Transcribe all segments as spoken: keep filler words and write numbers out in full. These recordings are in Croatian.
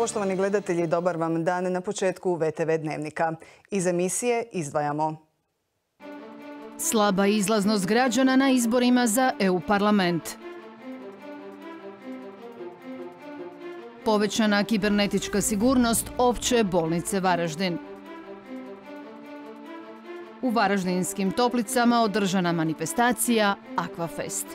Poštovani gledatelji, dobar vam dan na početku V T V Dnevnika. Iz emisije izdvajamo. Slaba izlaznost građana na izborima za E U parlament. Povećana kibernetička sigurnost Opće bolnice Varaždin. U Varaždinskim Toplicama održana manifestacija Aquafest.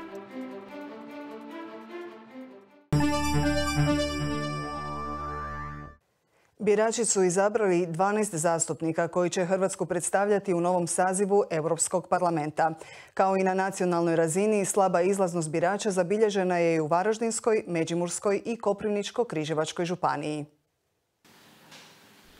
Birači su izabrali dvanaest zastupnika koji će Hrvatsku predstavljati u novom sazivu Europskog parlamenta. Kao i na nacionalnoj razini, slaba izlaznost birača zabilježena je i u Varaždinskoj, Međimurskoj i Koprivničko-križevačkoj županiji.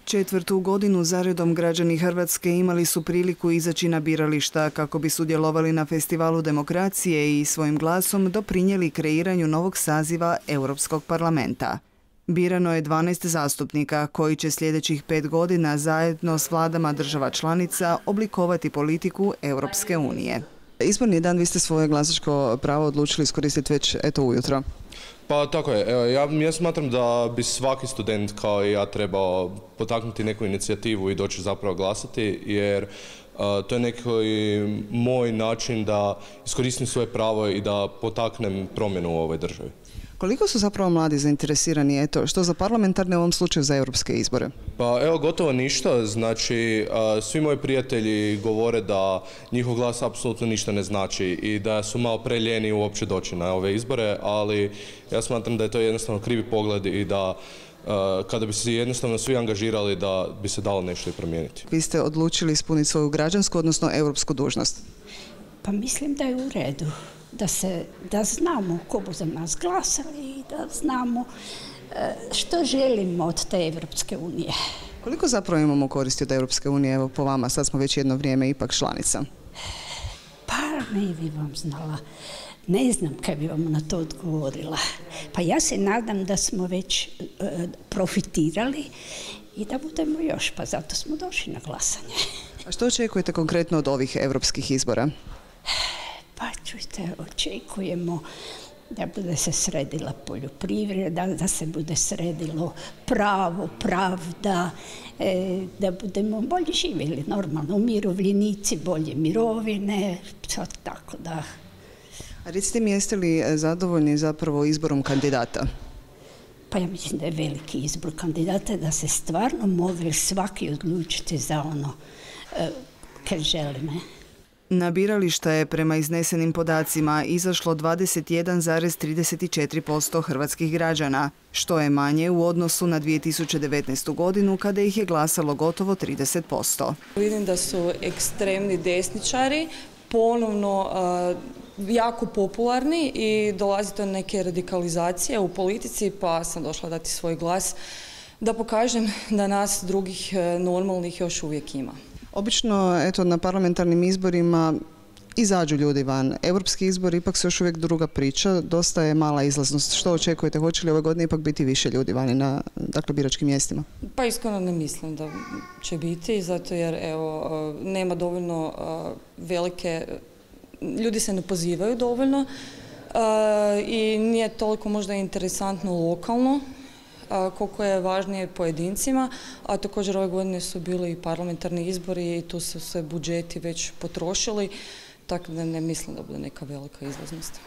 Četvrtu godinu zaredom građani Hrvatske imali su priliku izaći na birališta kako bi sudjelovali na festivalu demokracije i svojim glasom doprinijeli kreiranju novog saziva Europskog parlamenta. Birano je dvanaest zastupnika koji će sljedećih pet godina zajedno s vladama država članica oblikovati politiku Europske unije. Izborni dan, vi ste svoje glasačko pravo odlučili iskoristiti već eto ujutro. Pa tako je. Evo, ja, ja smatram da bi svaki student kao i ja trebao potaknuti neku inicijativu i doći zapravo glasati, jer uh, to je neki moj način da iskoristim svoje pravo i da potaknem promjenu u ovoj državi. Koliko su zapravo mladi zainteresirani, eto, što za parlamentarne, u ovom slučaju za europske izbore? Pa evo, gotovo ništa. Znači, svi moji prijatelji govore da njihov glas apsolutno ništa ne znači i da su malo preljeni uopće doći na ove izbore, ali ja smatram da je to jednostavno krivi pogled i da kada bi se jednostavno svi angažirali da bi se dalo nešto i promijeniti. Vi ste odlučili ispuniti svoju građansku, odnosno europsku dužnost? Pa mislim da je u redu. Da, se, da znamo ko bu za nas glasali i da znamo što želimo od te Evropske unije. Koliko zapravo imamo koristi od Europske unije, evo po vama, sad smo već jedno vrijeme ipak članica? Pa ne bi vam znala, ne znam kaj bi vam na to odgovorila. Pa ja se nadam da smo već uh, profitirali i da budemo još, pa zato smo došli na glasanje. A što očekujete konkretno od ovih europskih izbora? Pa čujte, očekujemo da bude se sredila poljoprivreda, da se bude sredilo pravo, pravda, e, da budemo bolje živjeli, normalno, umirovljenici, bolje mirovine, sad tako da. A recite mi, jeste li zadovoljni zapravo izborom kandidata? Pa ja mislim da je veliki izbor kandidata, da se stvarno mogli svaki odlučiti za ono e, kad želi, ne? Na birališta je prema iznesenim podacima izašlo dvadeset jedan zarez trideset četiri posto hrvatskih građana, što je manje u odnosu na dvije tisuće devetnaestu. godinu kada ih je glasalo gotovo trideset posto. Vidim da su ekstremni desničari ponovno uh, jako popularni i dolazi do neke radikalizacije u politici, pa sam došla dati svoj glas da pokažem da nas drugih normalnih još uvijek ima. Obično, eto, na parlamentarnim izborima izađu ljudi van. Europski izbor ipak su još uvijek druga priča, dosta je mala izlaznost. Što očekujete? Hoće li ove godine ipak biti više ljudi vani na, dakle, biračkim mjestima? Pa iskreno ne mislim da će biti, zato jer evo, nema dovoljno velike, ljudi se ne pozivaju dovoljno i nije toliko možda interesantno lokalno koliko je važnije pojedincima, a također ove godine su bili i parlamentarni izbori i tu su se budžeti već potrošili, tako da ne mislim da bude neka velika izlaznost.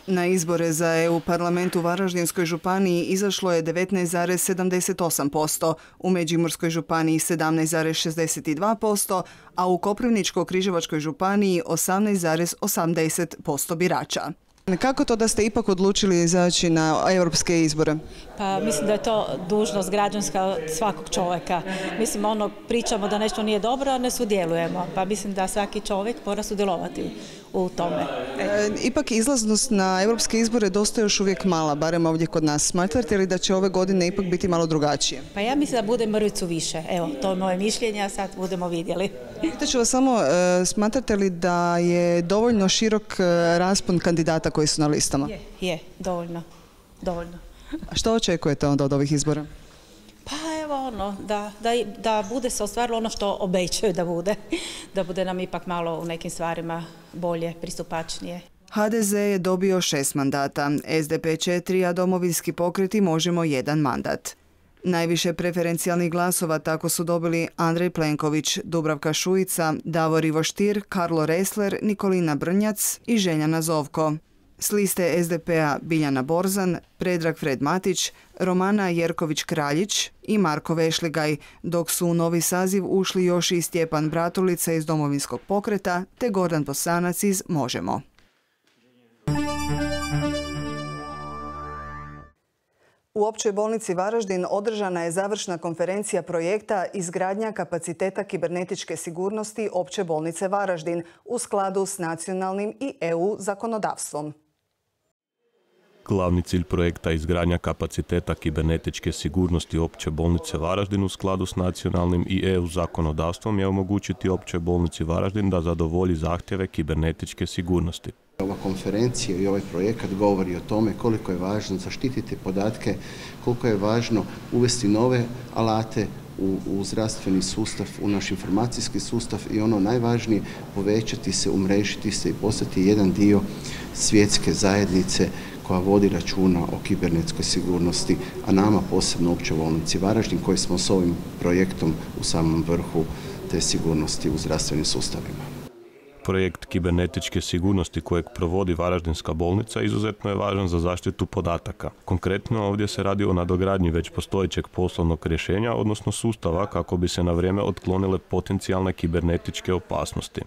Na izbore za E U parlament u Varaždinskoj županiji izašlo je devetnaest zarez sedamdeset osam posto, u Međimurskoj županiji sedamnaest zarez šezdeset dva posto, a u Koprivničko-križevačkoj županiji osamnaest zarez osamdeset posto birača. Kako to da ste ipak odlučili izaći na europske izbore? Pa mislim da je to dužnost građanska svakog čovjeka. Mislim, ono, pričamo da nešto nije dobro, a ne sudjelujemo. Pa mislim da svaki čovjek mora sudjelovati u tome. E, ipak izlaznost na europske izbore dosta još uvijek mala, barem ovdje kod nas. Smatrate li da će ove godine ipak biti malo drugačije? Pa ja mislim da bude mrvicu više. Evo, to je moje mišljenje, a sad budemo vidjeli. Pitaću vas samo, e, smatrate li da je dovoljno širok raspon kandidata koji su na listama? Je, je, dovoljno, dovoljno. A što očekujete onda od ovih izbora? Pa evo ono, da, da, da bude se ostvarilo ono što obećaju da bude. Da bude nam ipak malo u nekim stvarima bolje, pristupačnije. H D Z je dobio šest mandata, S D P četiri, a Domovinski pokret i Možemo jedan mandat. Najviše preferencijalnih glasova tako su dobili Andrej Plenković, Dubravka Šuica, Davor Ivo Stier, Karlo Ressler, Nikolina Brnjac i Željana Zovko. S liste es de pe a Biljana Borzan, Predrag Fred Matić, Romana Jerković-Kraljić i Marko Vešligaj, dok su u novi saziv ušli još i Stjepan Bratulica iz Domovinskog pokreta te Gordan Bosanac iz Možemo. U Općoj bolnici Varaždin održana je završna konferencija projekta Izgradnja kapaciteta kibernetičke sigurnosti Opće bolnice Varaždin u skladu s nacionalnim i e u zakonodavstvom. Glavni cilj projekta izgradnja kapaciteta kibernetičke sigurnosti Opće bolnice Varaždin u skladu s nacionalnim i e u zakonodavstvom je omogućiti Općoj bolnici Varaždin da zadovolji zahtjeve kibernetičke sigurnosti. Ova konferencija i ovaj projekat govori o tome koliko je važno zaštititi podatke, koliko je važno uvesti nove alate u, u zdravstveni sustav, u naš informacijski sustav i ono najvažnije, povećati se, umrežiti se i postati jedan dio svjetske zajednice koja vodi računa o kibernetskoj sigurnosti, a nama posebno Općoj bolnici Varaždin koji smo s ovim projektom u samom vrhu te sigurnosti u zdravstvenim sustavima. Projekt kibernetičke sigurnosti kojeg provodi Varaždinska bolnica izuzetno je važan za zaštitu podataka. Konkretno ovdje se radi o nadogradnji već postojećeg poslovnog rješenja, odnosno sustava kako bi se na vrijeme otklonile potencijalne kibernetičke opasnosti.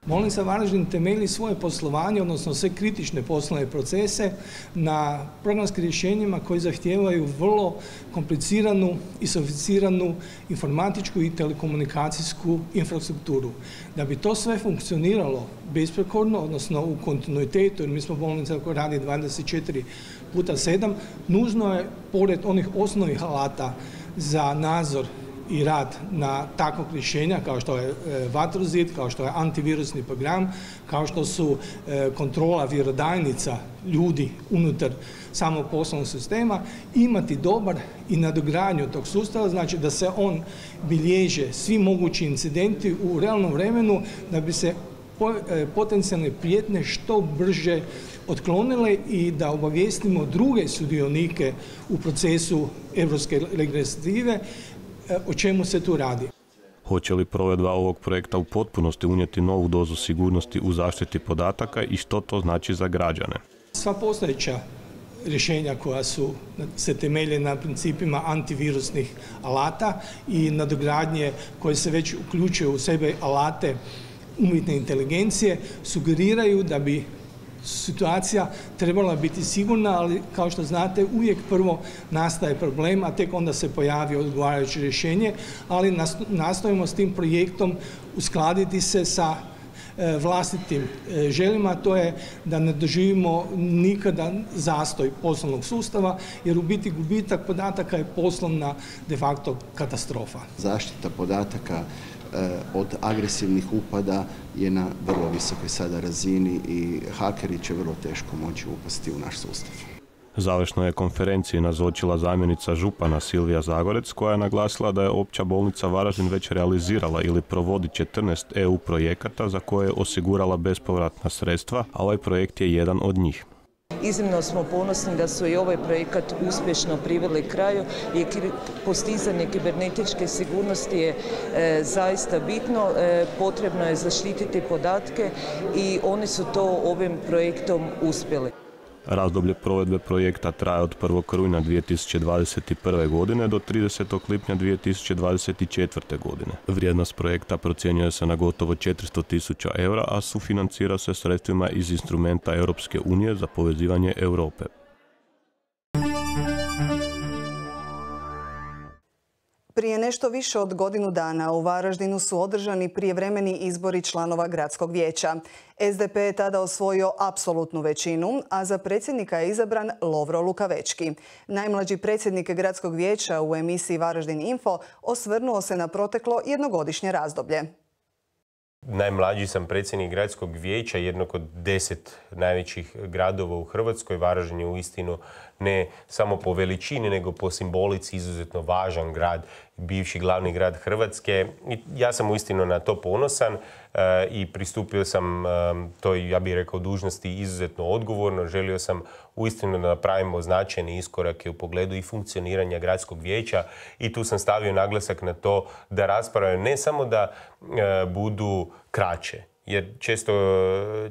Bolnica Varaždin temelji svoje poslovanje, odnosno sve kritične poslovne procese na programskim rješenjima koji zahtijevaju vrlo kompliciranu i sofisticiranu informatičku i telekomunikacijsku infrastrukturu. Da bi to sve funkcioniralo besprekorno, odnosno u kontinuitetu, jer mi smo bolnica koja radi dvadeset četiri puta sedam, nužno je, pored onih osnovnih alata za nadzor i rad na takvog rješenja kao što je vatrozid, kao što je antivirusni program, kao što su kontrola vjerodajnica ljudi unutar samog poslovnog sistema, imati dobar i nadogradnju tog sustava, znači da se on bilježe svi mogući incidenti u realnom vremenu da bi se potencijalne prijetnje što brže otklonile i da obavijestimo druge sudionike u procesu europske legislative o čemu se tu radi. Hoće li provedba ovog projekta u potpunosti unijeti novu dozu sigurnosti u zaštiti podataka i što to znači za građane? Sva postojeća rješenja koja su, se temelje na principima antivirusnih alata i nadogradnje koje se već uključuju u sebe alate umjetne inteligencije, sugeriraju da bi situacija trebala biti sigurna, ali kao što znate uvijek prvo nastaje problem, a tek onda se pojavi odgovarajuće rješenje, ali nastojimo s tim projektom uskladiti se sa vlastitim željama, to je da ne doživimo nikada zastoj poslovnog sustava, jer u biti gubitak podataka je poslovna de facto katastrofa. Zaštita podataka od agresivnih upada je na vrlo visokoj sada razini i hakeri će vrlo teško moći upasti u naš sustav. Završno je konferenciji nazočila zamjenica župana Silvija Zagorec koja je naglasila da je Opća bolnica Varaždin već realizirala ili provodi četrnaest e u projekata za koje je osigurala bespovratna sredstva, a ovaj projekt je jedan od njih. Iznimno smo ponosni da su i ovaj projekat uspješno priveli kraju i postizanje kibernetičke sigurnosti je e, zaista bitno. E, potrebno je zaštititi podatke i oni su to ovim projektom uspjeli. Razdoblje provedbe projekta traje od prvog rujna dvije tisuće dvadeset prve. godine do tridesetog lipnja dvije tisuće dvadeset četvrte. godine. Vrijednost projekta procjenjuje se na gotovo četiristo tisuća eura, a sufinancira se sredstvima iz instrumenta Europske unije za povezivanje Europe. Prije nešto više od godinu dana u Varaždinu su održani prijevremeni izbori članova gradskog vijeća. es de pe je tada osvojio apsolutnu većinu, a za predsjednika je izabran Lovro Lukavečki. Najmlađi predsjednik gradskog vijeća u emisiji Varaždin Info osvrnuo se na proteklo jednogodišnje razdoblje. Najmlađi sam predsjednik gradskog vijeća jednog od deset najvećih gradova u Hrvatskoj. Varaždin je uistinu ne samo po veličini, nego po simbolici izuzetno važan grad, bivši glavni grad Hrvatske. I ja sam uistinu na to ponosan e, i pristupio sam e, toj, ja bih rekao, dužnosti izuzetno odgovorno. Želio sam uistinu da napravimo značajne iskorake u pogledu i funkcioniranja gradskog vijeća i tu sam stavio naglasak na to da rasprave ne samo da e, budu kraće, jer često,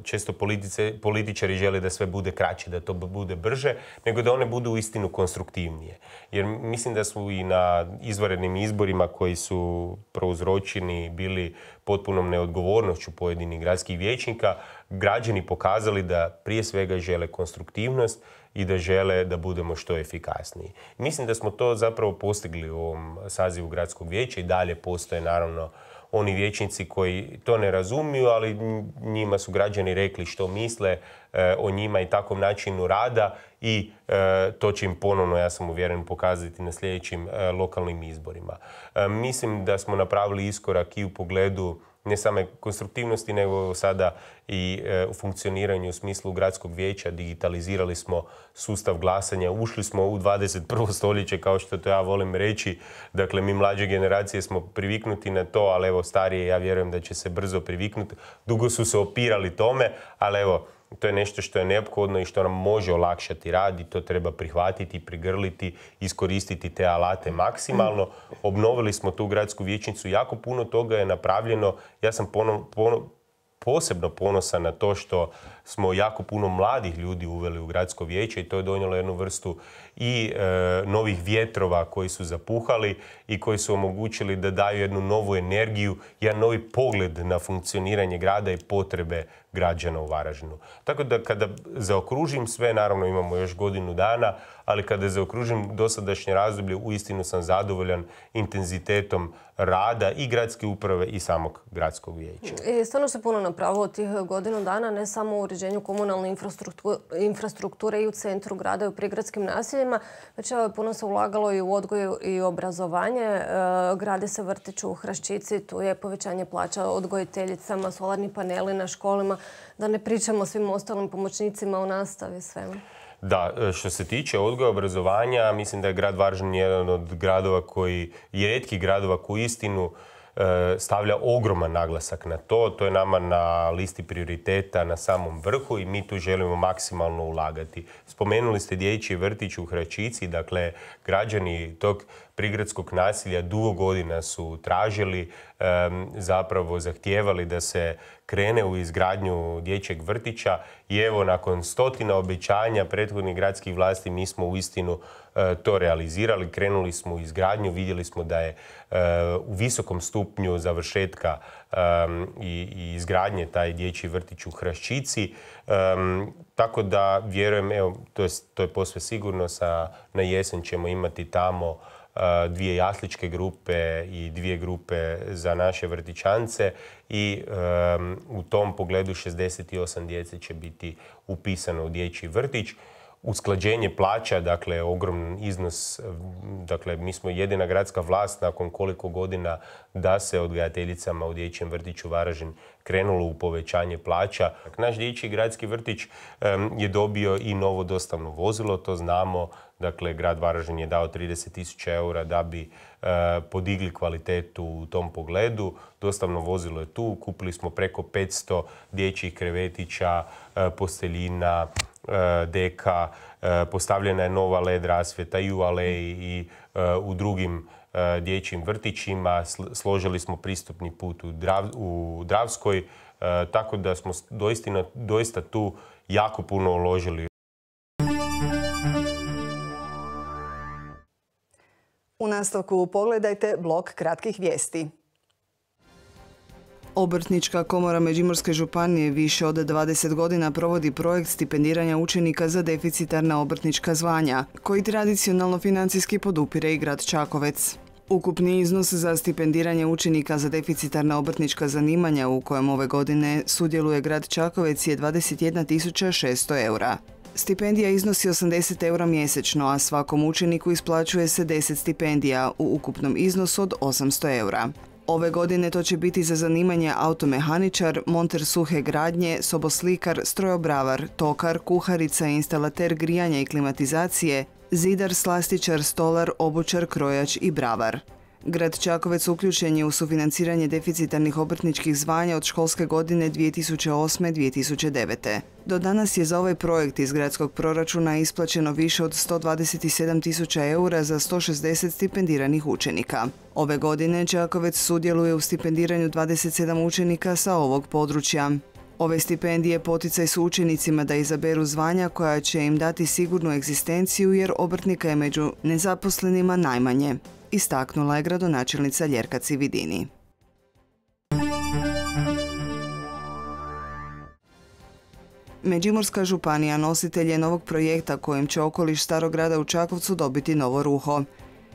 često politice, političari žele da sve bude kraće, da to bude brže, nego da one budu uistinu konstruktivnije. Jer mislim da su i na izvanrednim izborima koji su prouzročeni bili potpunom neodgovornošću pojedinih gradskih vijećnika, građani pokazali da prije svega žele konstruktivnost i da žele da budemo što efikasniji. Mislim da smo to zapravo postigli u ovom sazivu gradskog vijeća i dalje postoje naravno oni vijećnici koji to ne razumiju, ali njima su građani rekli što misle e, o njima i takvom načinu rada i e, to će im ponovno, ja sam uvjeren, pokazati na sljedećim e, lokalnim izborima. E, mislim da smo napravili iskorak i u pogledu ne same konstruktivnosti, nego sada i e, u funkcioniranju u smislu gradskog vijeća. Digitalizirali smo sustav glasanja, ušli smo u dvadeset prvo stoljeće, kao što to ja volim reći. Dakle, mi mlađe generacije smo priviknuti na to, ali evo starije, ja vjerujem da će se brzo priviknuti. Dugo su se opirali tome, ali evo, to je nešto što je neophodno i što nam može olakšati rad i to treba prihvatiti, prigrliti, iskoristiti te alate maksimalno. Obnovili smo tu gradsku vijećnicu, jako puno toga je napravljeno. Ja sam pono, pono, posebno ponosan na to što smo jako puno mladih ljudi uveli u gradsko vijeće i to je donijelo jednu vrstu i e, novih vjetrova koji su zapuhali i koji su omogućili da daju jednu novu energiju, jedan novi pogled na funkcioniranje grada i potrebe građana u Varaždinu. Tako da kada zaokružim sve, naravno imamo još godinu dana, ali kada zaokružim dosadašnje razdoblje, uistinu sam zadovoljan intenzitetom rada i gradske uprave i samog gradskog vijeća. I stvarno se puno napravilo od tih godinu dana, ne samo u uređenju komunalne infrastrukture i u centru grada i u prigradskim naseljima, već puno se ulagalo i u odgoj i obrazovanje. Grade se vrtić u Hraščici, tu je povećanje plaća odgojiteljicama, solarni paneli na školama, da ne pričamo o svim ostalim pomoćnicima u nastavi, svemu. Da, što se tiče odgoja i obrazovanja, mislim da je grad Varaždin jedan od gradova koji, rijetkih gradova koji istinu stavlja ogroman naglasak na to. To je nama na listi prioriteta na samom vrhu i mi tu želimo maksimalno ulagati. Spomenuli ste dječji vrtić u Hraščici, dakle građani tog prigradskog nasilja dugo godina su tražili, zapravo zahtijevali da se krene u izgradnju dječjeg vrtića i evo nakon stotina obećanja prethodnih gradskih vlasti mi smo uistinu to realizirali. Krenuli smo u izgradnju, vidjeli smo da je u visokom stupnju završetka i izgradnje taj dječji vrtić u Hraščici. Tako da vjerujem, evo, to je, to je posve sigurno, sa, na jesen ćemo imati tamo dvije jasličke grupe i dvije grupe za naše vrtićance i um, u tom pogledu šezdeset osam djece će biti upisano u dječji vrtić. Usklađenje plaća, dakle, ogroman iznos, dakle, mi smo jedina gradska vlast nakon koliko godina da se odgajateljicama u dječjem vrtiću Varaždin krenulo u povećanje plaća. Naš dječji gradski vrtić um, je dobio i novo dostavno vozilo, to znamo. Dakle, grad Varaždin je dao trideset tisuća eura da bi e, podigli kvalitetu u tom pogledu. Dostavno vozilo je tu. Kupili smo preko petsto dječjih krevetića, e, posteljina, e, deka. E, postavljena je nova L E D rasvjeta i u aleji i e, u drugim e, dječjim vrtićima. Složili smo pristupni put u, Drav, u Dravskoj. E, tako da smo doista, doista tu jako puno uložili. U nastavku pogledajte blok kratkih vijesti. Obrtnička komora Međimurske županije više od dvadeset godina provodi projekt stipendiranja učenika za deficitarna obrtnička zvanja, koji tradicionalno financijski podupire i grad Čakovec. Ukupni iznos za stipendiranje učenika za deficitarna obrtnička zanimanja u kojem ove godine sudjeluje grad Čakovec je dvadeset jedna tisuća šesto eura. Stipendija iznosi osamdeset eura mjesečno, a svakom učeniku isplaćuje se deset stipendija u ukupnom iznosu od osamsto eura. Ove godine to će biti za zanimanje automehaničar, monter suhe gradnje, soboslikar, strojobravar, tokar, kuharica, instalater grijanja i klimatizacije, zidar, slastičar, stolar, obućar, krojač i bravar. Grad Čakovec uključen je u sufinanciranje deficitarnih obrtničkih zvanja od školske godine dvije tisuće osme dvije tisuće devete. Do danas je za ovaj projekt iz gradskog proračuna isplaćeno više od sto dvadeset sedam tisuća eura za sto šezdeset stipendiranih učenika. Ove godine Čakovec sudjeluje u stipendiranju dvadeset sedam učenika sa ovog područja. Ove stipendije poticaj su učenicima da izaberu zvanja koja će im dati sigurnu egzistenciju jer obrtnika je među nezaposlenima najmanje, istaknula je gradonačelnica Ljerka Cividini. Međimurska županija nositelj je novog projekta kojim će okoliš Starog grada u Čakovcu dobiti novo ruho.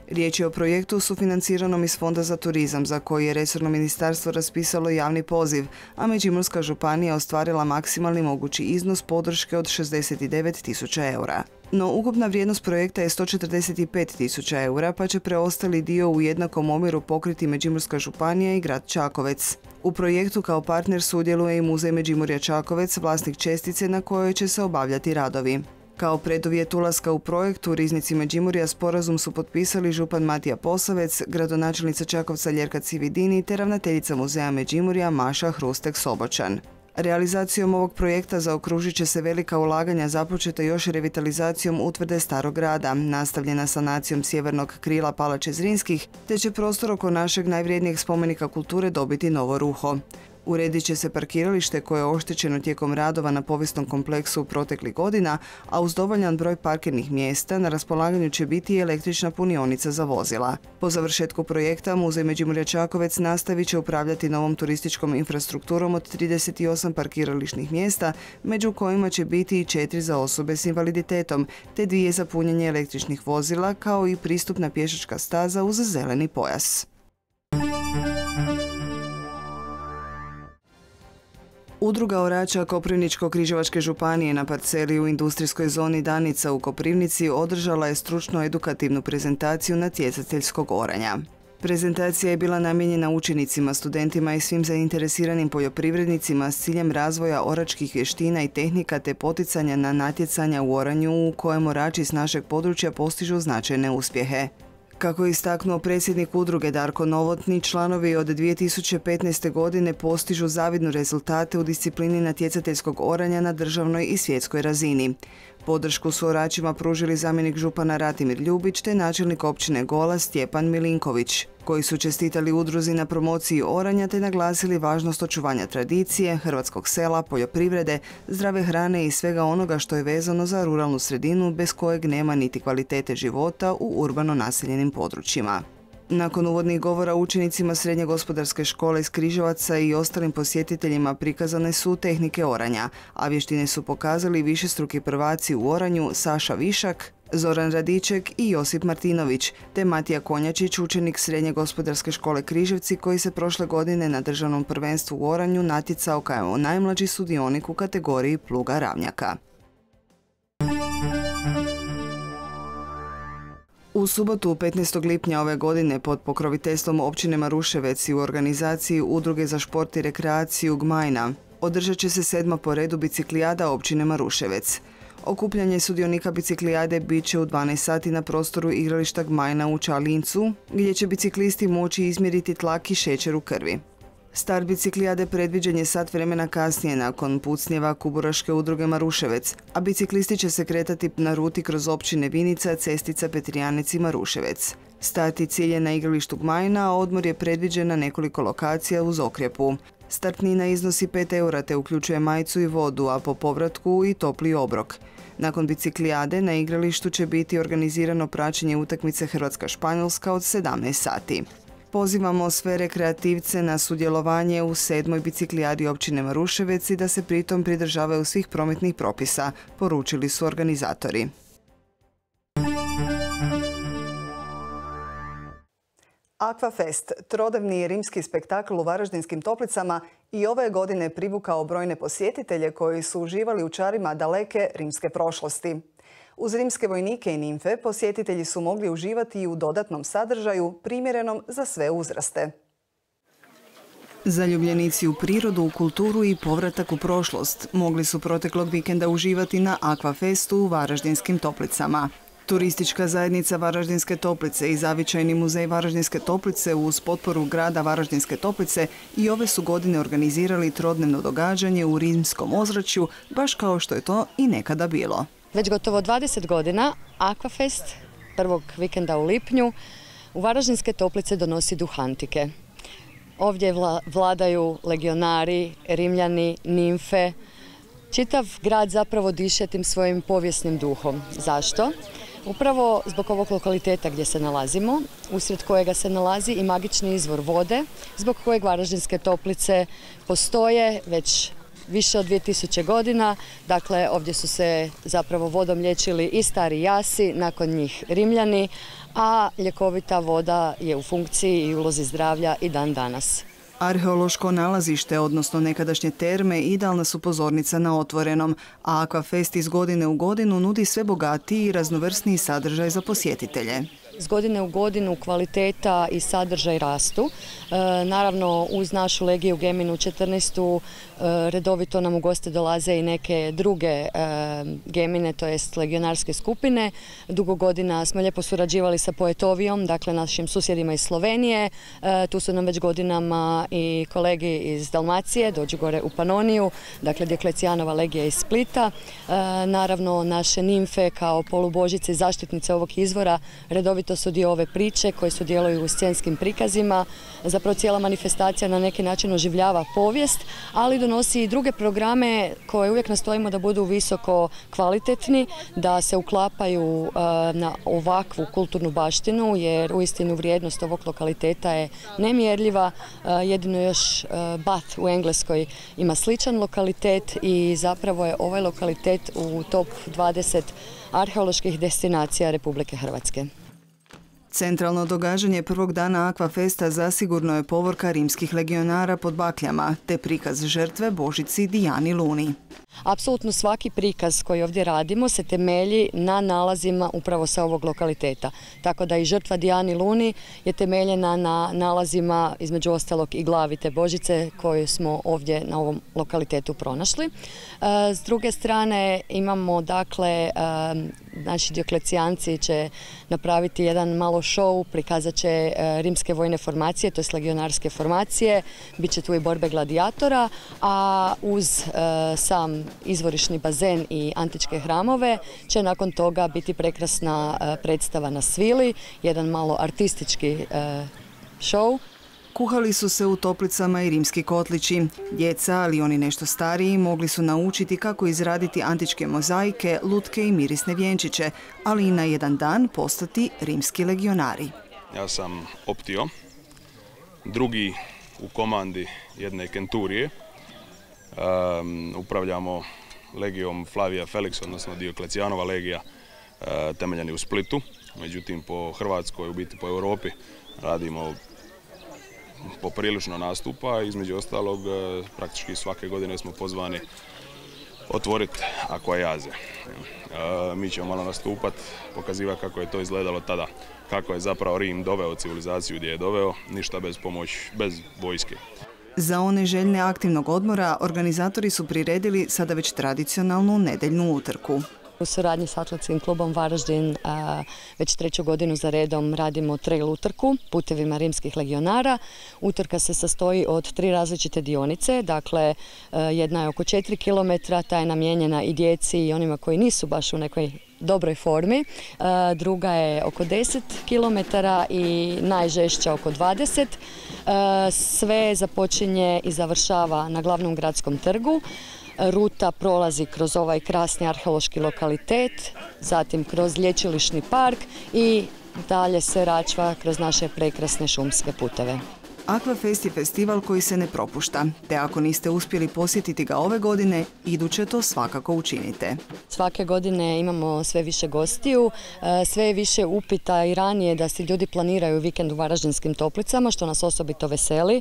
Riječ je o projektu sufinanciranom iz Fonda za turizam za koji je resorno ministarstvo raspisalo javni poziv, a Međimurska županija ostvarila maksimalni mogući iznos podrške od šezdeset devet tisuća eura. No, ukupna vrijednost projekta je sto četrdeset pet tisuća eura, pa će preostali dio u jednakom omjeru pokriti Međimurska županija i grad Čakovec. U projektu kao partner sudjeluje i Muzej Međimurja Čakovec, vlasnik čestice na kojoj će se obavljati radovi. Kao preduvjet ulaska u projekt u Riznici Međimurja sporazum su potpisali župan Matija Posavec, gradonačelnica Čakovca Ljerka Cividini te ravnateljica Muzeja Međimurja Maša Hrustek-Sobočan. Realizacijom ovog projekta zaokružit će se velika ulaganja započeta još revitalizacijom utvrde Starog grada, nastavljena sanacijom sjevernog krila Palače Zrinskih, te će prostor oko našeg najvrijednijeg spomenika kulture dobiti novo ruho. Uredit će se parkiralište koje je oštećeno tijekom radova na povijesnom kompleksu proteklih godina, a uz dovoljan broj parkirnih mjesta na raspolaganju će biti i električna punionica za vozila. Po završetku projekta Muzej Međimurja Čakovec nastavit će upravljati novom turističkom infrastrukturom od trideset osam parkirališnih mjesta, među kojima će biti i četiri za osobe s invaliditetom, te dvije za punjenje električnih vozila, kao i pristupna pješačka staza uz zeleni pojas. Udruga orača Koprivničko-križevačke županije na parceli u industrijskoj zoni Danica u Koprivnici održala je stručno-edukativnu prezentaciju natjecateljskog oranja. Prezentacija je bila namijenjena učenicima, studentima i svim zainteresiranim poljoprivrednicima s ciljem razvoja oračkih vještina i tehnika te poticanja na natjecanja u oranju u kojem orači s našeg područja postižu značajne uspjehe. Kako je istaknuo predsjednik udruge Darko Novotni, članovi od dvije tisuće petnaeste. godine postižu zavidne rezultate u disciplini natjecateljskog oranja na državnoj i svjetskoj razini. Podršku su oračima pružili zamjenik župana Ratimir Ljubić te načelnik općine Gola Stjepan Milinković, koji su čestitali udruzi na promociji oranja te naglasili važnost očuvanja tradicije, hrvatskog sela, poljoprivrede, zdrave hrane i svega onoga što je vezano za ruralnu sredinu bez kojeg nema niti kvalitete života u urbano naseljenim područjima. Nakon uvodnih govora učenicima Srednje gospodarske škole iz Križevaca i ostalim posjetiteljima prikazane su tehnike oranja, a vještine su pokazali višestruki prvaci u oranju Saša Višak, Zoran Radiček i Josip Martinović, te Matija Konjačić, učenik Srednje gospodarske škole Križevci koji se prošle godine na državnom prvenstvu u oranju natjecao kao najmlađi sudionik u kategoriji pluga ravnjaka. U subotu petnaestog lipnja ove godine pod pokroviteljstvom općine Maruševec i u organizaciji Udruge za šport i rekreaciju Gmajna održat će se sedma po redu biciklijada općine Maruševec. Okupljanje sudionika biciklijade bit će u dvanaest sati na prostoru igrališta Gmajna u Čalincu, gdje će biciklisti moći izmjeriti tlak i šećer u krvi. Start biciklijade predviđen je sat vremena kasnije nakon pucnjeva Kuburaške udruge Maruševec, a biciklisti će se kretati na ruti kroz općine Vinica, Cestica, Petrijanec i Maruševec. Start i cilj je na igralištu Gmajna, a odmor je predviđen na nekoliko lokacija uz Okrjepu. Startnina iznosi pet eura te uključuje majicu i vodu, a po povratku i topli obrok. Nakon biciklijade na igralištu će biti organizirano praćenje utakmice Hrvatska-Španjolska od sedamnaest sati. Pozivamo sve rekreativce na sudjelovanje u sedmoj biciklijadi općine Maruševec i da se pritom pridržavaju svih prometnih propisa, poručili su organizatori. Aquafest, trodnevni rimski spektakl u Varaždinskim Toplicama, i ove godine privukao brojne posjetitelje koji su uživali u čarima daleke rimske prošlosti. Uz rimske vojnike i nimfe posjetitelji su mogli uživati i u dodatnom sadržaju primjerenom za sve uzraste. Zaljubljenici u prirodu, u kulturu i povratak u prošlost mogli su proteklog vikenda uživati na Aquafestu u Varaždinskim Toplicama. Turistička zajednica Varaždinske Toplice i Zavičajni muzej Varaždinske Toplice uz potporu grada Varaždinske Toplice i ove su godine organizirali trodnevno događanje u rimskom ozračju, baš kao što je to i nekada bilo. Već gotovo dvadeset godina Aquafest, prvog vikenda u lipnju, u Varaždinske Toplice donosi duh antike. Ovdje vladaju legionari, rimljani, nimfe. Čitav grad zapravo diše tim svojim povijesnim duhom. Zašto? Upravo zbog ovog lokaliteta gdje se nalazimo, usred kojega se nalazi i magični izvor vode, zbog kojeg Varaždinske Toplice postoje već više od dvije tisuće godina. Dakle, ovdje su se zapravo vodom liječili i stari jasi, nakon njih rimljani, a ljekovita voda je u funkciji i ulozi zdravlja i dan danas. Arheološko nalazište, odnosno nekadašnje terme, idealna su pozornica na otvorenom, a Aquafest iz godine u godinu nudi sve bogatiji i raznovrsniji sadržaj za posjetitelje. S godine u godinu kvaliteta i sadržaj rastu. E, naravno, uz našu Legiju Geminu četrnaestu e, redovito nam u goste dolaze i neke druge e, gemine, to jest legionarske skupine. Dugo godina smo lijepo surađivali sa Poetovijom, dakle našim susjedima iz Slovenije. E, tu su nam već godinama i kolegi iz Dalmacije, dođu gore u Panoniju, dakle Dioklecijanova legija iz Splita. E, naravno, naše nimfe kao polubožice i zaštitnice ovog izvora redovito to su dio ove priče koje sudjeluju u scenskim prikazima. Zapravo cijela manifestacija na neki način oživljava povijest, ali donosi i druge programe koje uvijek nastojimo da budu visoko kvalitetni, da se uklapaju na ovakvu kulturnu baštinu, jer uistinu vrijednost ovog lokaliteta je nemjerljiva. Jedino još Bath u Engleskoj ima sličan lokalitet i zapravo je ovaj lokalitet u top dvadeset arheoloških destinacija Republike Hrvatske. Centralno događanje prvog dana Aquafesta zasigurno je povorka rimskih legionara pod bakljama, te prikaz žrtve Božici Dijani Luni. Apsolutno svaki prikaz koji ovdje radimo se temelji na nalazima upravo sa ovog lokaliteta. Tako da i žrtva Dijani Luni je temeljena na nalazima, između ostalog i glavi te Božice koju smo ovdje na ovom lokalitetu pronašli. S druge strane imamo, dakle, naši Dioklecijanci će napraviti jedan malo show, prikazat će rimske vojne formacije, to je legionarske formacije, bit će tu i borbe gladijatora, a uz sam izvorišni bazen i antičke hramove će nakon toga biti prekrasna predstava na svili, jedan malo artistički show. Kuhali su se u toplicama i rimski kotlići. Djeca, ali oni nešto stariji, mogli su naučiti kako izraditi antičke mozaike, lutke i mirisne vjenčiće, ali i na jedan dan postati rimski legionari. Ja sam Optio, drugi u komandi jedne kenturije. Um, upravljamo legijom Flavija Felix, odnosno Dioklecijanova legija, uh, temeljeni u Splitu. Međutim, po Hrvatskoj, u biti po Europi, radimo poprilično nastupa. Između ostalog, uh, praktički svake godine smo pozvani otvoriti akvajaze. Uh, mi ćemo malo nastupati, pokazivati kako je to izgledalo tada, kako je zapravo Rim doveo civilizaciju gdje je doveo, ništa bez pomoći, bez vojske. Za one željne aktivnog odmora organizatori su priredili sada već tradicionalnu nedeljnu utrku. U suradnji s Atletskim klubom Varaždin a, već treću godinu za redom radimo trail utrku putevima rimskih legionara. Utrka se sastoji od tri različite dionice, dakle a, jedna je oko četiri kilometra, ta je namijenjena i djeci i onima koji nisu baš u nekoj dobroj formi. A, druga je oko deset kilometara i najžešća oko dvadeset. A, sve započinje i završava na glavnom gradskom trgu. Ruta prolazi kroz ovaj krasni arheološki lokalitet, zatim kroz lječilišni park i dalje se račva kroz naše prekrasne šumske puteve. Aquafest je festival koji se ne propušta, te ako niste uspjeli posjetiti ga ove godine, iduće to svakako učinite. Svake godine imamo sve više gostiju, sve je više upita i ranije da si ljudi planiraju vikend u Varaždinskim Toplicama, što nas osobito veseli.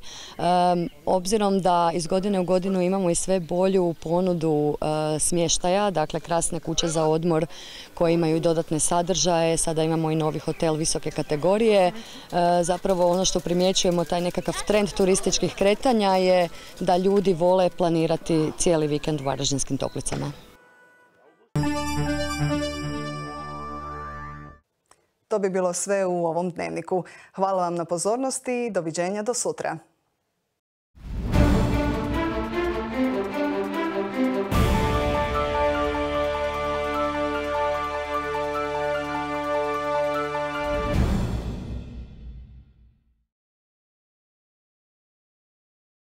Obzirom da iz godine u godinu imamo i sve bolju ponudu smještaja, dakle krasne kuće za odmor koje imaju dodatne sadržaje, sada imamo i novi hotel visoke kategorije. Zapravo ono što primjećujemo, taj neki nekakav trend turističkih kretanja je da ljudi vole planirati cijeli vikend u Varaždinskim Toplicama. To bi bilo sve u ovom dnevniku. Hvala vam na pozornosti i doviđenja do sutra.